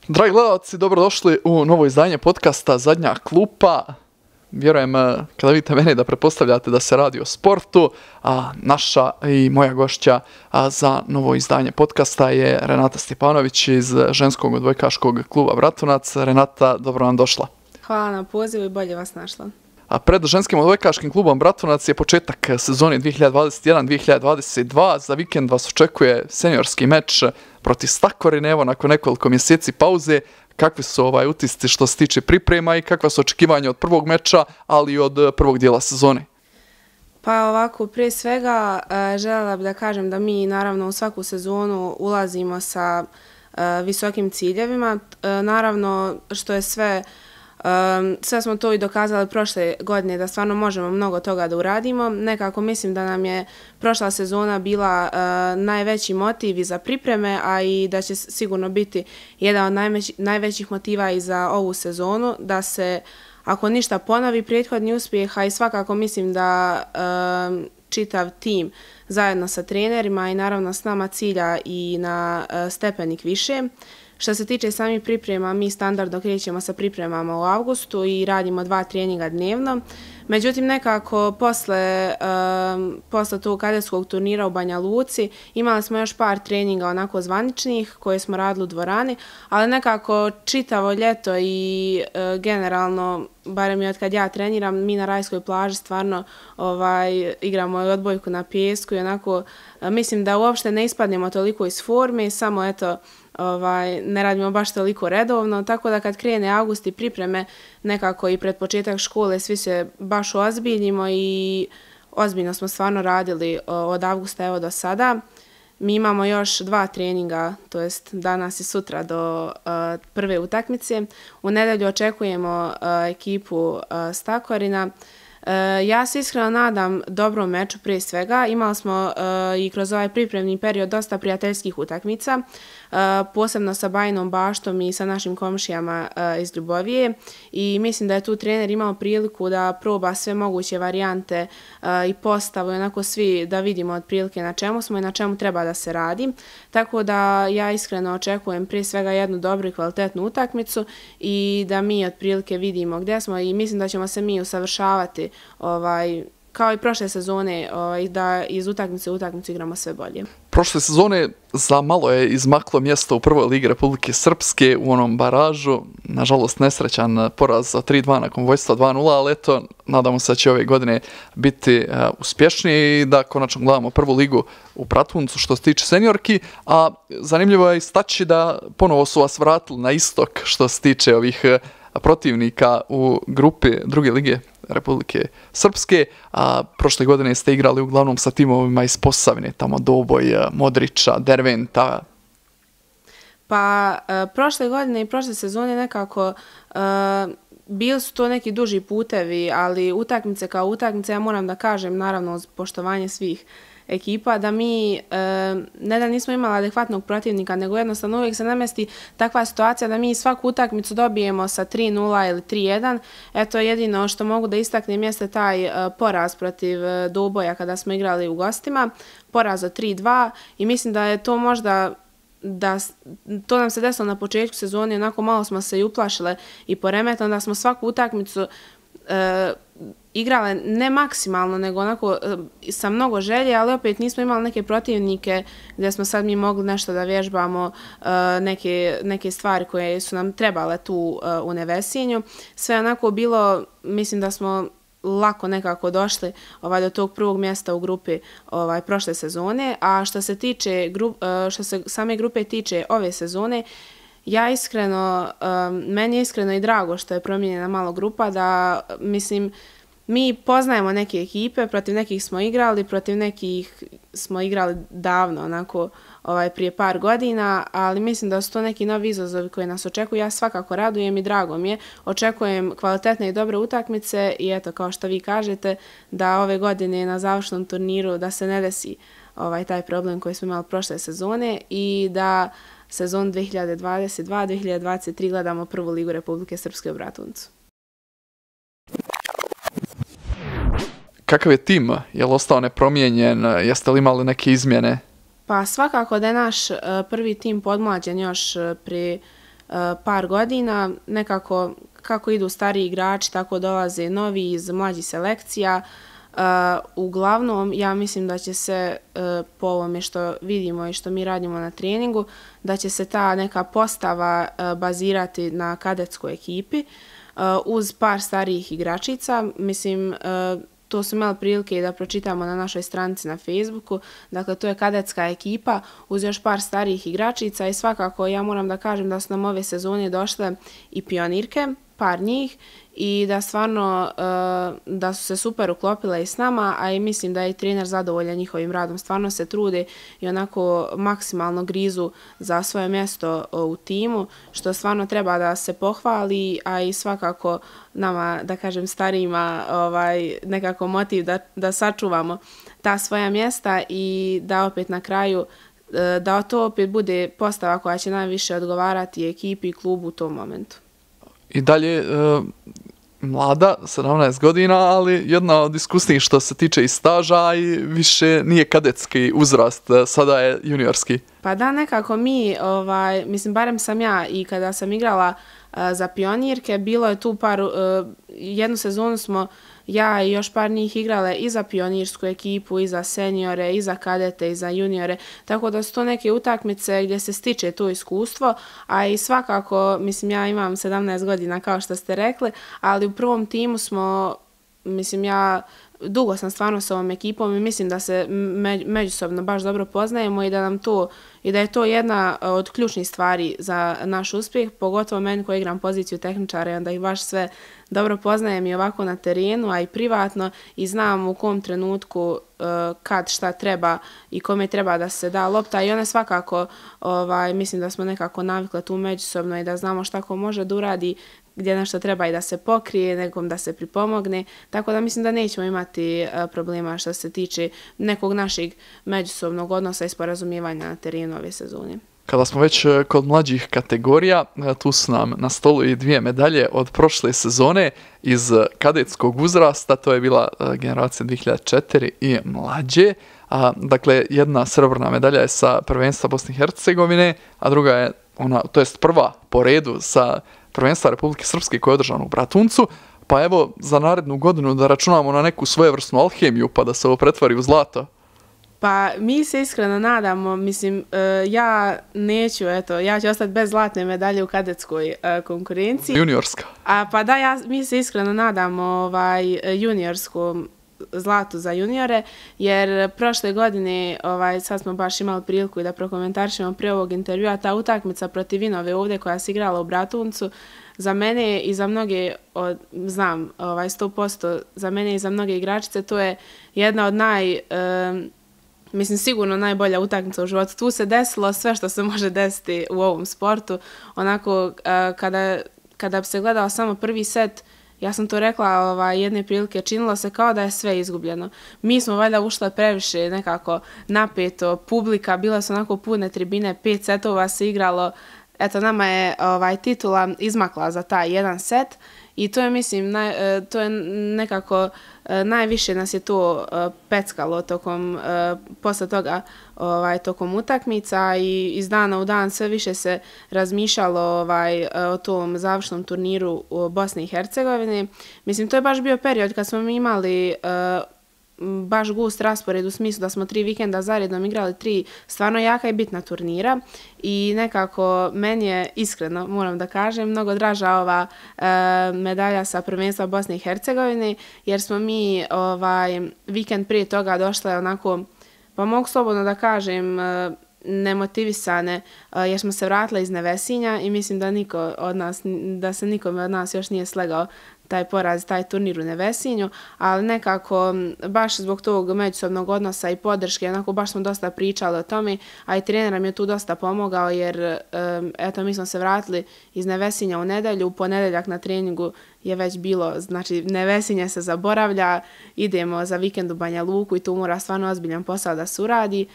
Dragi gledalci, dobrodošli u novo izdanje podcasta Zadnja klupa. Vjerujem, kada vidite mene, da pretpostavljate da se radi o sportu, a naša i moja gošća za novo izdanje podcasta je Renata Stjepanović iz ženskog odbojkaškog kluba Bratunac. Renata, dobro vam došla. Hvala na pozivu i bolje vas našla. A pred ženskim odbojkaškim klubom Bratunac je početak sezone 2021-2022. Za vikend vas očekuje seniorski meč protiv Stakorine, evo nakon nekoliko mjeseci pauze. Kakvi su utisci što se tiče priprema i kakva su očekivanja od prvog meča, ali i od prvog dijela sezone? Pa ovako, prije svega željela bih da kažem da mi naravno u svaku sezonu ulazimo sa visokim ciljevima. Naravno što je sve smo to i dokazali prošle godine da stvarno možemo mnogo toga da uradimo. Nekako mislim da nam je prošla sezona bila najveći motiv i za pripreme, a i da će sigurno biti jedan od najvećih motiva i za ovu sezonu, da se ako ništa ponovi prethodni uspjeh, a i svakako mislim da čitav tim zajedno sa trenerima i naravno s nama cilja i na stepenik više. Što se tiče samih priprema, mi standardno krećemo sa pripremama u avgustu i radimo 2 treninga dnevno. Međutim, nekako posle tog kadetskog turnira u Banja Luci imali smo još par treninga onako zvaničnih koje smo radili u dvorani, ali nekako čitavo ljeto i generalno, barem i od kad ja treniram, mi na rajskoj plaži stvarno igramo odbojku na pijesku i onako mislim da uopšte ne ispadnemo toliko iz forme, samo eto ne radimo baš toliko redovno, tako da kad krene avgust i pripreme nekako i pred početak škole svi se baš ozbiljimo i ozbiljno smo stvarno radili od avgusta evo do sada. Mi imamo još 2 treninga, to jest danas i sutra do prve utakmice. U nedjelju očekujemo ekipu Stakorina. Ja se iskreno nadam dobrom meču prije svega. Imali smo i kroz ovaj pripremni period dosta prijateljskih utakmica, posebno sa Bajnom Baštom i sa našim komšijama iz Ljubovije i mislim da je tu trener imao priliku da proba sve moguće varijante i postavu i onako svi da vidimo otprilike na čemu smo i na čemu treba da se radi. Tako da ja iskreno očekujem prije svega jednu dobru i kvalitetnu utakmicu i da mi otprilike vidimo gdje smo i mislim da ćemo se mi usavršavati kao i prošle sezone, da iz utakmice u utakmicu igramo sve bolje. Prošle sezone za malo je izmaklo mjesto u prvoj ligi Republike Srpske u onom baražu. Nažalost, nesrećan poraz od 3-2 nakon vojstva 2-0, ali eto, nadamo se da će ove godine biti uspješniji i da konačno gledamo prvu ligu u Bratuncu što se tiče seniorki, a zanimljivo je istaći da ponovo su vas vratili na istok što se tiče ovih protivnika u grupi druge lige Republike Srpske, a prošle godine ste igrali uglavnom sa timovima iz Posavine, tamo Doboj, Modrića, Derventa. Pa prošle godine i prošle sezone nekako bili su to neki duži putevi, ali utakmice kao utakmice, ja moram da kažem, naravno uz poštovanje svih ekipa, da mi ne da nismo imali adekvatnog protivnika, nego jednostavno uvijek se namesti takva situacija da mi svaku utakmicu dobijemo sa 3-0 ili 3-1. Eto, jedino što mogu da istaknem jeste taj poraz protiv Doboja kada smo igrali u gostima, poraz od 3-2 i mislim da je to možda to nam se desilo na početku sezone, onako malo smo se i uplašile i poremetno, da smo svaku utakmicu igrale ne maksimalno, nego onako sa mnogo želje, ali opet nismo imali neke protivnike gdje smo sad mi mogli nešto da vježbamo, neke stvari koje su nam trebale tu u Nevesinju. Sve onako bilo, mislim da smo lako nekako došli do tog prvog mjesta u grupi prošle sezone, a što se same grupe tiče ove sezone, meni je iskreno i drago što je promijenjena malo grupa, da mislim mi poznajemo neke ekipe, protiv nekih smo igrali, protiv nekih smo igrali davno, onako prije par godina, ali mislim da su to neki novi izazovi koji nas očekuju. Ja svakako radujem i drago mi je. Očekujem kvalitetne i dobre utakmice i eto, kao što vi kažete, da ove godine na završnom turniru da se ne desi taj problem koji smo imali prošle sezone i da sezon 2022-2023 gledamo prvu ligu Republike Srpske u Bratuncu. Kakav je tim? Je li ostao nepromijenjen? Jeste li imali neke izmjene? Pa svakako da je naš prvi tim podmlađen još pri par godina, nekako kako idu stariji igrači, tako dolaze novi iz mlađih selekcija. Uglavnom, ja mislim da će se po ovome što vidimo i što mi radimo na treningu, da će se ta neka postava bazirati na kadetskoj ekipi uz par starijih igračica. Mislim, to su imali prilike da pročitamo na našoj stranici na Facebooku. Dakle, to je kadetska ekipa uz još par starijih igračica i svakako ja moram da kažem da su nam ove sezone došle i pionirke, par njih, i da stvarno da su se super uklopile i s nama, a i mislim da je i trener zadovoljan njihovim radom. Stvarno se trude i onako maksimalno grizu za svoje mjesto u timu, što stvarno treba da se pohvali, a i svakako nama, da kažem, starijima nekako motiv da sačuvamo ta svoja mjesta i da opet na kraju da to opet bude postava koja će najviše odgovarati ekipi i klubu u tom momentu. I dalje mlada, 17 godina, ali jedna od iskusnijih što se tiče i staža i više nije kadetski uzrast, sada je juniorski. Pa da, nekako mi, mislim, barem sam ja i kada sam igrala za pionirke, bilo je tu jednu sezonu smo ja i još par njih igrale i za pionirsku ekipu, i za seniore, i za kadete, i za juniore, tako da su to neke utakmice gdje se stiče to iskustvo, a i svakako, mislim, ja imam 17 godina kao što ste rekli, ali u prvom timu smo, mislim, ja dugo sam stvarno s ovom ekipom i mislim da se međusobno baš dobro poznajemo i da je to jedna od ključnih stvari za naš uspjeh, pogotovo meni koji igram poziciju tehničara i onda ih baš sve dobro poznajem i ovako na terenu, a i privatno, i znam u kom trenutku kad šta treba i kome treba da se da lopta, i one svakako mislim da smo nekako navikle tu međusobno i da znamo šta ko može da uradi, gdje nešto treba i da se pokrije, nekom da se pripomogne, tako da mislim da nećemo imati problema što se tiče nekog našeg međusobnog odnosa i sporazumijevanja na terenu ove sezone. Kada smo već kod mlađih kategorija, tu su nam na stolu i 2 medalje od prošle sezone iz kadetskog uzrasta, to je bila generacija 2004 i mlađe. Dakle, jedna srebrna medalja je sa prvenstva Bosne i Hercegovine, a druga je prva po redu sa prvenstva Republike Srpske koja je održana u Bratuncu. Pa evo, za narednu godinu da računamo na neku svojevrsnu alhemiju pa da se ovo pretvori u zlato. Pa mi se iskreno nadamo, mislim, ja neću, ja ću ostati bez zlatne medalje u kadetskoj konkurenciji. Juniorska. Pa da, mi se iskreno nadamo juniorskom zlatu za juniore, jer prošle godine, sad smo baš imali priliku i da prokomentarišemo prije ovog intervjua, ta utakmica protiv Vinove ovdje koja se igrala u Bratuncu, za mene i za mnoge, znam 100%, za mene i za mnoge igračice, to je jedna od mislim, sigurno najbolja utakmica u životu. Tu se desilo sve što se može desiti u ovom sportu. Onako, kada bi se gledao samo prvi set, ja sam to rekla jedne prilike, činilo se kao da je sve izgubljeno. Mi smo valjda ušle previše nekako napeto, publika, bila su onako pune tribine, 5 setova se igralo. Eto, nama je titula izmakla za taj jedan set i to je, mislim, to je nekako najviše nas je to peckalo posle toga tokom utakmica i iz dana u dan sve više se razmišljalo o tom završnom turniru u Bosni i Hercegovini. Mislim, to je baš bio period kad smo mi imali baš gust raspored u smislu da smo 3 vikenda zaredom igrali 3 stvarno jaka i bitna turnira i nekako meni je iskreno, moram da kažem, mnogo draža ova medalja sa prvenstva Bosne i Hercegovine, jer smo mi vikend prije toga došle onako, pa mogu slobodno da kažem, nemotivisane, jer smo se vratile iz Nevesinja i mislim da se nikome od nas još nije slegao taj poraz, taj turnir u Nevesinju, ali nekako baš zbog tog međusobnog odnosa i podrške, onako baš smo dosta pričali o tome, a i trener nam je tu dosta pomogao, jer eto, mi smo se vratili iz Nevesinja u nedelju, u ponedeljak na treningu je već bilo, znači Nevesinje se zaboravlja, idemo za vikend u Banja Luku i tu mora stvarno ozbiljan posao da se uradi,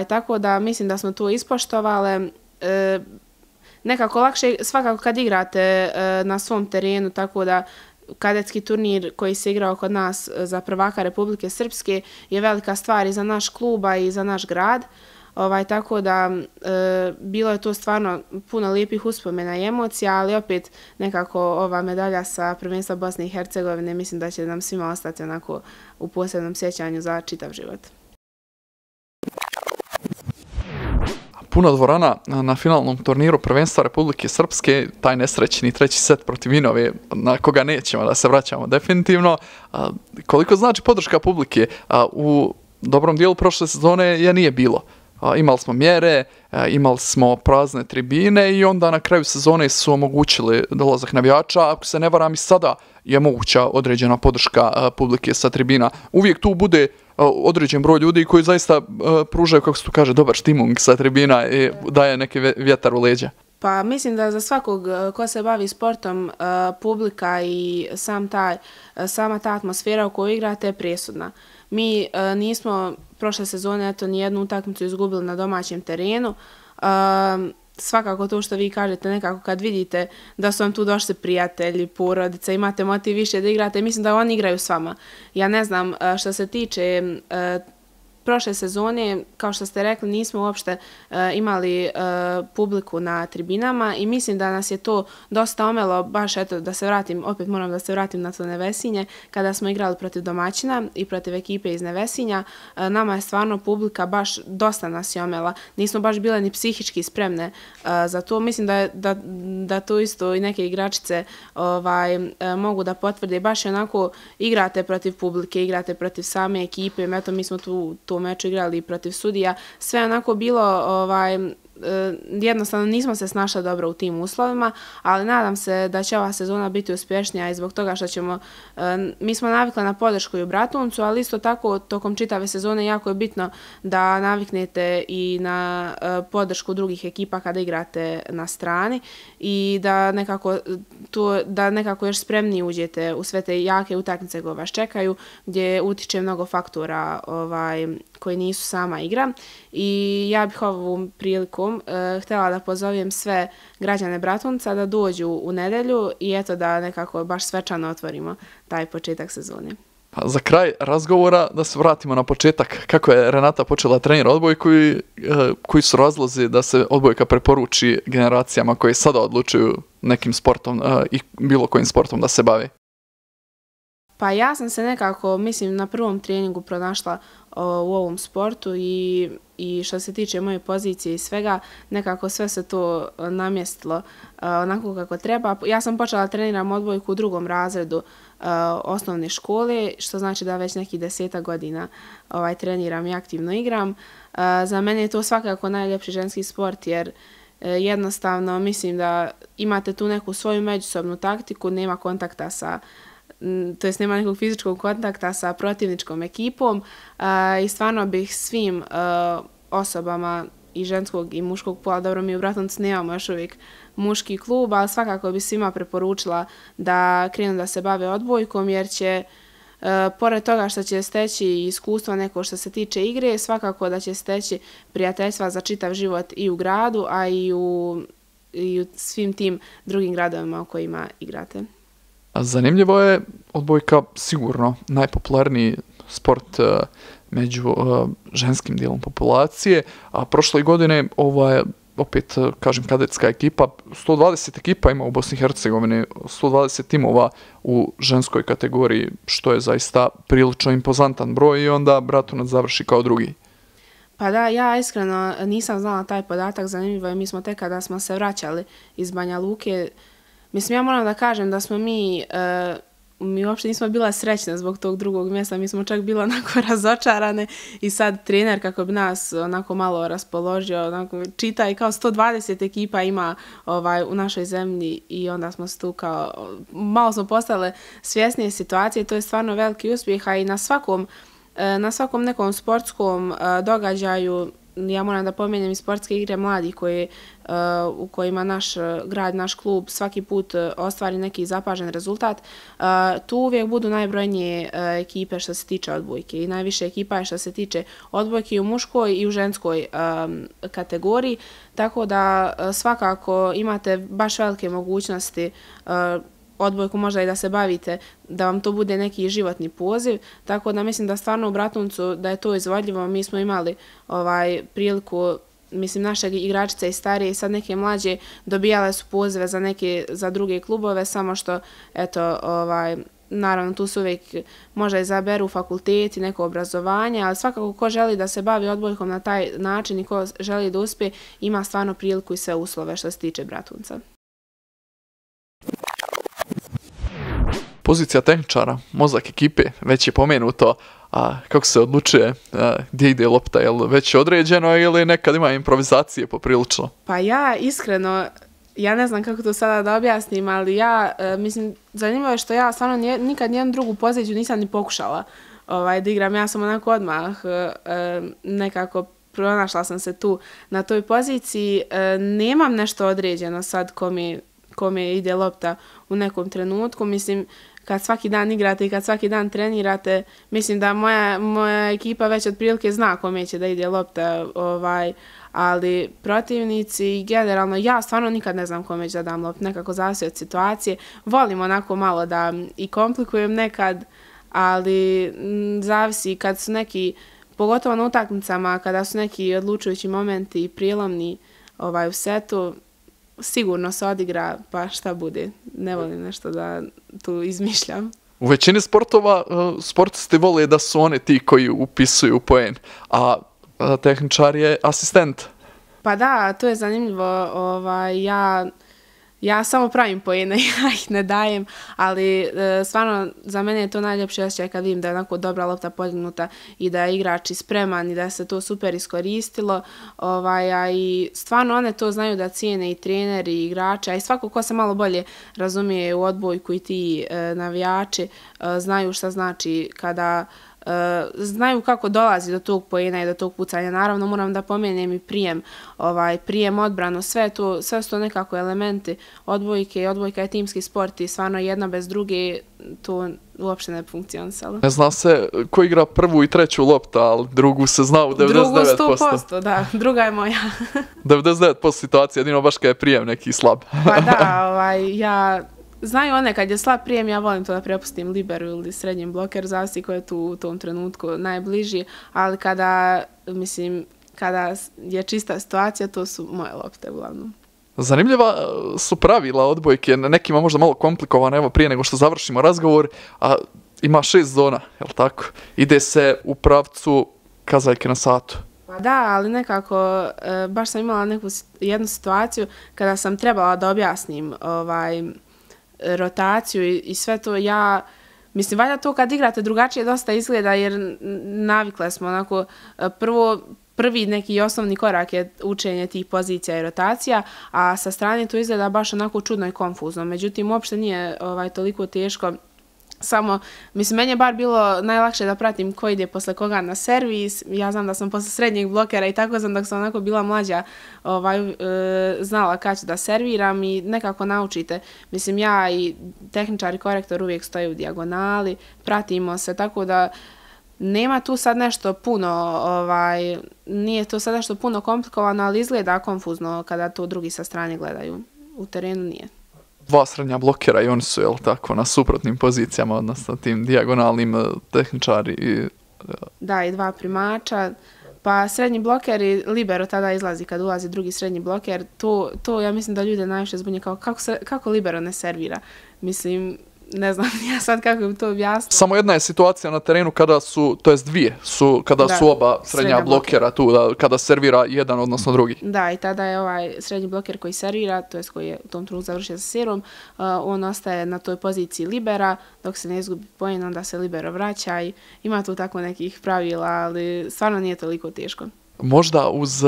tako da mislim da smo to ispoštovale. Nekako lakše svakako kad igrate na svom terenu, tako da kadetski turnir koji se igrao kod nas za prvaka Republike Srpske je velika stvar i za naš klub i za naš grad. tako da bilo je to stvarno puno lijepih uspomena i emocija, ali opet nekako ova medalja sa prvenstva Bosne i Hercegovine mislim da će nam svima ostati onako u posebnom sjećanju za čitav život. Puno dvorana na finalnom turniru prvenstva Republike Srpske, taj nesrećni treći set protiv Vinove, na koga nećemo da se vraćamo definitivno. Koliko znači podrška publike? U dobrom dijelu prošle sezone je nije bilo. Imali smo mjere, imali smo prazne tribine i onda na kraju sezone su omogućili dolazak navijača. Ako se ne varam i sada je moguća određena podrška publike sa tribina. Uvijek tu bude određen broj ljudi koji zaista pružaju, kako se tu kaže, dobar štimung sa tribina i daje neki vjetar u leđa. Pa mislim da za svakog ko se bavi sportom, publika i sama ta atmosfera u kojoj igrate je presudna. Mi nismo prošle sezone nijednu utakmicu izgubili na domaćem terenu. Svakako to što vi kažete, nekako kad vidite da su vam tu došli prijatelji, porodica, imate motiv više da igrate, mislim da oni igraju s vama. Ja ne znam, što se tiče prošle sezone, kao što ste rekli, nismo uopšte imali publiku na tribinama i mislim da nas je to dosta omelo, baš eto da se vratim, opet moram da se vratim na to Nevesinje, kada smo igrali protiv domaćina i protiv ekipe iz Nevesinja, nama je stvarno publika baš dosta nas je omela. Nismo baš bile ni psihički spremne za to. Mislim da to isto i neke igračice mogu da potvrde. Baš je onako igrate protiv publike, igrate protiv same ekipe, eto mi smo tu meču igrali protiv sudija, sve onako bilo, jednostavno nismo se snašli dobro u tim uslovima, ali nadam se da će ova sezona biti uspješnija i zbog toga što ćemo, mi smo navikli na podršku i u Bratuncu, ali isto tako tokom čitave sezone jako je bitno da naviknete i na podršku drugih ekipa kada igrate na strani i da nekako još spremniji uđete u sve te jake utakmice koje vas čekaju, gdje utiče mnogo faktora koji nisu sama igra. I ja bih ovom prilikom htjela da pozovem sve građane Bratunca da dođu u nedjelju i eto da nekako baš svečano otvorimo taj početak sezone. Za kraj razgovora da se vratimo na početak. Kako je Renata počela trenira odbojku i koji su razlozi da se odbojka preporuči generacijama koje sada odlučuju nekim sportom i bilo kojim sportom da se bave? Pa ja sam se nekako, mislim, na prvom treningu pronašla u ovom sportu i što se tiče moje pozicije i svega, nekako sve se to namjestilo onako kako treba. Ja sam počela treniram odbojku u 2. razredu osnovne škole, što znači da već nekih 10 godina treniram i aktivno igram. Za mene je to svakako najljepši ženski sport jer jednostavno mislim da imate tu neku svoju međusobnu taktiku, nema kontakta to jest nema nekog fizičkog kontakta sa protivničkom ekipom i stvarno bih svim osobama i ženskog i muškog pola, dobro mi u Bratuncu nemamo još uvijek muški klub, ali svakako bi svima preporučila da krenu da se bave odbojkom jer će pored toga što će steći iskustva neko što se tiče igre, svakako da će steći prijateljstva za čitav život i u gradu, a i u svim tim drugim gradovima u kojima igrate. Zanimljivo je, odbojka sigurno najpopularniji sport među ženskim dijelom populacije, a prošle godine opet, kažem, kadetska ekipa, 120 ekipa ima u Bosni i Hercegovini, 120 timova u ženskoj kategoriji, što je zaista prilično impozantan broj i onda Bratunac završi kao drugi. Pa da, ja iskreno nisam znala taj podatak, zanimljivo je, mi smo tek kada smo se vraćali iz Banja Luke, mislim, ja moram da kažem da smo mi uopšte nismo bila srećne zbog tog drugog mjesta, mi smo čak bila onako razočarane i sad trener kako bi nas onako malo raspoložio, onako čita i kao 120 ekipa ima u našoj zemlji i onda smo tu kao, malo smo postale svjesnije situacije, to je stvarno veliki uspjeh, a i na svakom nekom sportskom događaju, ja moram da pomenem i sportske igre mladih u kojima naš grad, naš klub svaki put ostvari neki zapažen rezultat. Tu uvijek budu najbrojnije ekipe što se tiče odbojke i najviše ekipa je što se tiče odbojke i u muškoj i u ženskoj kategoriji, tako da svakako imate baš velike mogućnosti odbojku možda i da se bavite, da vam to bude neki životni poziv, tako da mislim da stvarno u Bratuncu da je to izvodljivo. Mi smo imali priliku, mislim, naše igračice i starije i sad neke mlađe dobijale su pozive za druge klubove, samo što, eto, naravno tu se uvijek možda izaberu fakulteti, neko obrazovanje, ali svakako ko želi da se bavi odbojkom na taj način i ko želi da uspije, ima stvarno priliku i sve uslove što se tiče Bratunca. Pozicija tehničara, mozak ekipe, već je pomenuto, a kako se odlučuje gdje ide lopta, je li već određeno ili nekad ima improvizacije poprilično? Pa ja iskreno, ja ne znam kako to sada da objasnim, ali mislim, zanimljivo je što ja stvarno nikad nijednu drugu poziciju nisam ni pokušala da igram. Ja sam onako odmah nekako pronašla sam se tu na toj poziciji. Nemam nešto određeno sad kome ide lopta u nekom trenutku. Mislim, kad svaki dan igrate i kad svaki dan trenirate, mislim da moja ekipa već otprilike zna kome će da ide lopta, ali protivnici, generalno, ja stvarno nikad ne znam kome će da dam loptu, nekako zavisi od situacije. Volim onako malo da i komplikujem nekad, ali zavisi kad su neki, pogotovo na utakmicama, kada su neki odlučujući momenti i prijelomni u setu, sigurno se odigra, pa šta bude. Ne volim nešto da tu izmišljam. U većini sportova sportisti vole da su oni ti koji upisuju poen, a tehničar je asistent. Pa da, to je zanimljivo. Ja samo pravim poene, ja ih ne dajem, ali stvarno za mene je to najljepše osjećaj kad vidim da je onako dobra lopta podignuta i da je igrač spreman i da se to super iskoristilo. I stvarno one to znaju da cijene i treneri i igrači, a i svako ko se malo bolje razumije u odbojku i ti navijači znaju šta znači kada znaju kako dolazi do tog poena i do tog pucanja. Naravno, moram da pomenem i prijem, odbranu, sve su to nekako elementi odbojke. Odbojka je timski sport i stvarno jedna bez druge to uopšte ne funkcionisalo. Ne zna se ko igra prvu i treću loptu, ali drugu se zna u 99%. Drugu 100%, da, druga je moja. 99% situacije, jedino baš kad je prijem neki slab. Pa da, znaju one kad je slab prijem, ja volim to da prepustim liberu ili srednjem blokeru, zavisi ko je tu u tom trenutku najbliži, ali kada je čista situacija, to su moje lopte uglavnom. Zanimljiva su pravila odbojke, nekima možda malo komplikovane, evo prije nego što završimo razgovor, a ima 6 zona, je li tako? Ide se u pravcu kazaljke na satu. Pa da, ali nekako, baš sam imala jednu situaciju kada sam trebala da objasnim rotaciju i sve to, mislim, valjda to kad igrate drugačije dosta izgleda jer navikle smo onako, prvi neki osnovni korak je učenje tih pozicija i rotacija, a sa strane to izgleda baš onako čudno i konfuzno. Međutim, uopšte nije toliko teško. Samo, mislim, meni je bar bilo najlakše da pratim ko ide posle koga na servis. Ja znam da sam posle srednjeg blokera i tako sam dok sam onako bila mlađa znala kad ću da serviram i nekako naučite. Mislim, ja i tehničar i korektor uvijek stoji u dijagonali, pratimo se, tako da nema tu sad nešto puno, nije to sad nešto puno komplikovano, ali izgleda konfuzno kada to drugi sa strane gledaju. U terenu nije. 2 srednja blokera i oni su, jel tako, na suprotnim pozicijama, odnosno tim dijagonalnim tehničari. Da, i 2 primača. Pa srednji bloker i libero tada izlazi kad ulazi drugi srednji bloker. To ja mislim da ljude najviše zbunje kao kako libero ne servira. Mislim, ne znam ja sad kako bi to objasnila. Samo jedna je situacija na terenu kada su, to jest dvije, kada su oba srednja blokera tu, kada servira jedan odnosno drugi. Da, i tada je ovaj srednji bloker koji servira, to jest koji je u tom trenutku završio sa serom, on ostaje na toj poziciji libera, dok se ne izgubi poen, onda se libero vraća i ima tu tako nekih pravila, ali stvarno nije toliko teško. Možda uz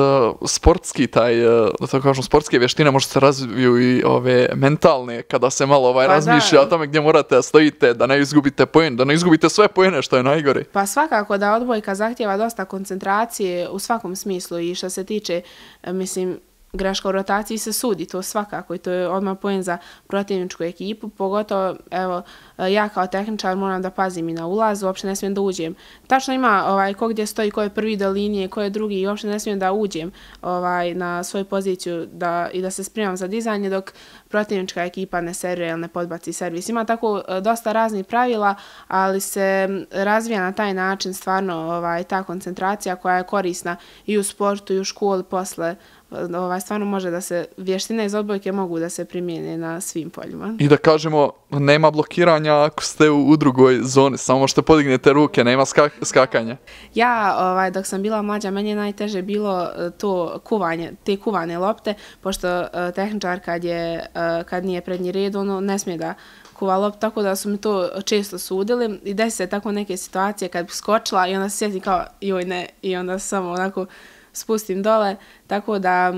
sportski da tako kažem, sportske vještine možda se razviju i ove mentalne, kada se malo razmišlja o tome gdje morate da stojite, da ne izgubite poen, da ne izgubite sve poene, što je najgore. Pa svakako da odbojka zahtjeva dosta koncentracije u svakom smislu i što se tiče, mislim, greška u rotaciji se sudi, to svakako i to je odmah poen za protivničku ekipu, pogotovo evo ja kao tehničar moram da pazim i na ulaz, uopšte ne smijem da uđem. Tačno ima ko gdje stoji, ko je prvi do linije, ko je drugi i uopšte ne smijem da uđem na svoju poziciju i da se spremam za dizanje dok protivnička ekipa ne servira ili ne podbaci servis. Ima tako dosta raznih pravila, ali se razvija na taj način stvarno ta koncentracija koja je korisna i u sportu i u školi posle. Stvarno može da se, vještine iz odbojke mogu da se primijene na svim poljima. I da kažemo, nema blokiranja ako ste u drugoj zoni, samo možete podignete ruke, nema skakanja. Ja, dok sam bila mlađa, meni je najteže bilo to kuvanje, te kuvane lopte, pošto tehničar kad nije prednji red, ono ne smije da kuva loptu, tako da su mi to često sudili i desi se tako neke situacije kad bi skočila i onda se sjetim kao joj ne i onda samo onako spustim dole, tako da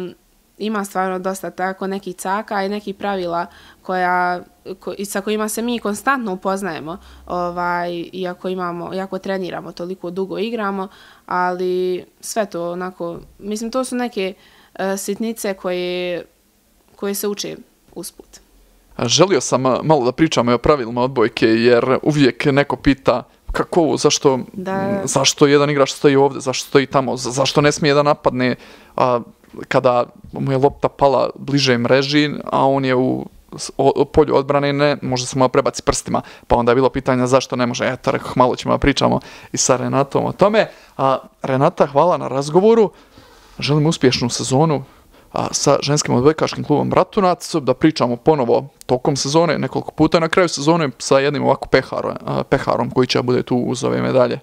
ima stvarno dosta tako nekih caka i nekih pravila sa kojima se mi konstantno upoznajemo, iako treniramo, toliko dugo igramo, ali sve to onako, mislim to su neke sitnice koje se uče usput. Želio sam malo da pričamo o pravilima odbojke, jer uvijek neko pita kako ovo, zašto jedan igrač stoji ovdje, zašto stoji tamo, zašto ne smije da napadne kada mu je lopta pala bliže mreži, a on je u polju odbrane, ne može se malo prebaci prstima. Pa onda je bilo pitanje zašto ne može. Eto, rekao, malo ćemo da pričamo i sa Renatom o tome. Renata, hvala na razgovoru. Želim uspješnu sezonu sa ženskim odbojkaškim klubom Bratunac, da pričamo ponovo tokom sezone, nekoliko puta na kraju sezone sa jednim ovako peharom koji će bude tu uz ove medalje.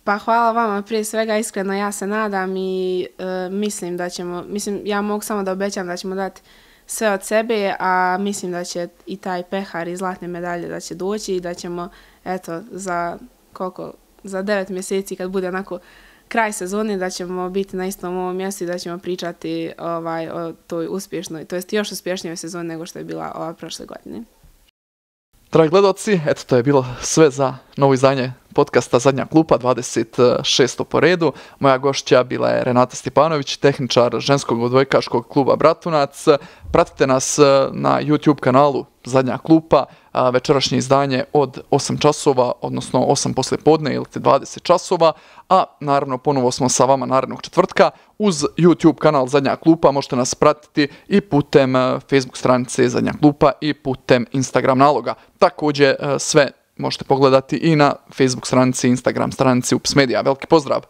Pa hvala vama, prije svega iskreno ja se nadam i mislim da ćemo, ja mogu samo da obećam da ćemo dati sve od sebe, a mislim da će i taj pehar i zlatne medalje da će doći i da ćemo, eto, za 9 mjeseci kad bude onako kraj sezone da ćemo biti na istom ovom mjestu i da ćemo pričati o toj uspješnoj, to jest još uspješnijoj sezoni nego što je bila ova prošle godine. Dragi gledaoci, eto to je bilo sve za novo izdanje podcasta Zadnja klupa, 26. po redu. Moja gošća bila je Renata Stjepanović, tehničar ženskog odbojkaškog kluba Bratunac. Pratite nas na YouTube kanalu Zadnja klupa, večerašnje izdanje od 8 časova, odnosno 8 poslijepodne ili 20 časova, a naravno ponovo smo sa vama narednog četvrtka. Uz YouTube kanal Zadnja klupa možete nas pratiti i putem Facebook stranice Zadnja klupa i putem Instagram naloga. Također sve možete pogledati i na Facebook stranici, Instagram stranici Ups Media. Veliki pozdrav!